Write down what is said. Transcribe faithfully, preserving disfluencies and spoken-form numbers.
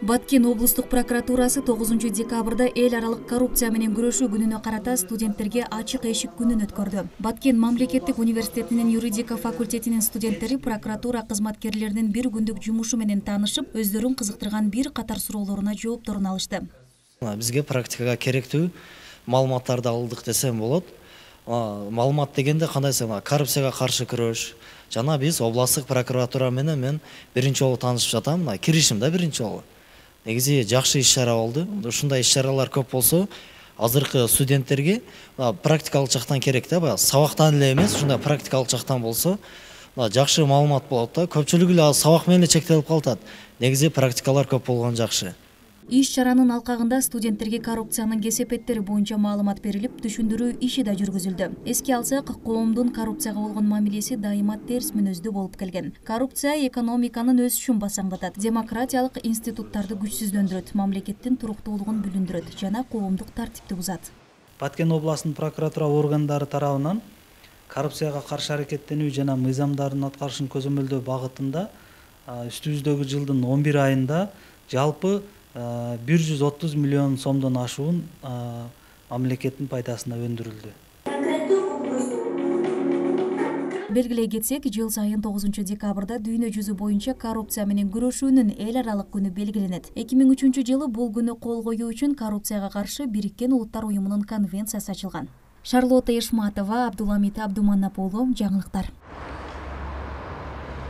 Баткен облустук прокуратурасы тогузунчу декабрда эл аралык коррупция менен күрөшүү күнүнө карата студенттерге ачык эшик күнүн өткөрдү. Баткен мамлекеттик университетинин юридика факультетинин студенттери прокуратура кызматкерлеринин бир күндүк жумушу менен таанышып, өздөрүн кызыктырган бир катар суроолоруна жоопторун алышты. Бизге практикага керектүү маалыматтарды алдык десем болот. Маалымат дегенде кандай десем, коррупцияга каршы күрөш. Жана биз областтык прокуратура менен мен биринчи жолу таанышып жатам, киришим да биринчи жолу. Негизи жакшы иш-чара болду. Ушундай иш-чаралар көп болсо, азыркы студенттерге практикалык жактан керек да, баягы сабактан эле эмес, ушундай практикалык жактан болсо, жакшы маалымат болот да. Көпчүлүгү эле сабак менен чектелип калат. Негизи практикалар көп болгон жакшы. Иш-чаранын алкагында студенттерге коррупциянын кесепеттери боюнча маалымат берилип, түшүндүрүү иши да жүргүзүлдү. Эске алсак, коомдун коррупцияга болгон мамилеси дайыма терс мүнөздүү болуп келген. Коррупция экономиканын өсүшүн басаңдатат, демократиялык институттарды күчсүздөндүрөт, мамлекеттин туруктуулугун бүлүндүрөт жана коомдук тартипти бузат. Баткен областынын прокуратура органдары тарабынан коррупцияга каршы аракеттенүү жана мыйзамдардын аткарышын көзөмөлдөө багытында үстүбүздөгү жылдын он бир айында жалпы бир жүз отуз миллион сомдон ашуун мамлекеттин пайдасына өндүрүлдү. Белгилей кетсек, жыл сайын тогузунчу декабрда дүйнө жүзү боюнча коррупция менен күрөшүүнүн эл аралык күнү белгиленет. эки миң үчүнчү жылы бул күнү кол коюу үчүн коррупцияга каршы Бириккен Улуттар уюмунун конвенциясы ачылган. Шарлотта Эшматова, Абдуламит Абдуманап уулу, жаңылыктар.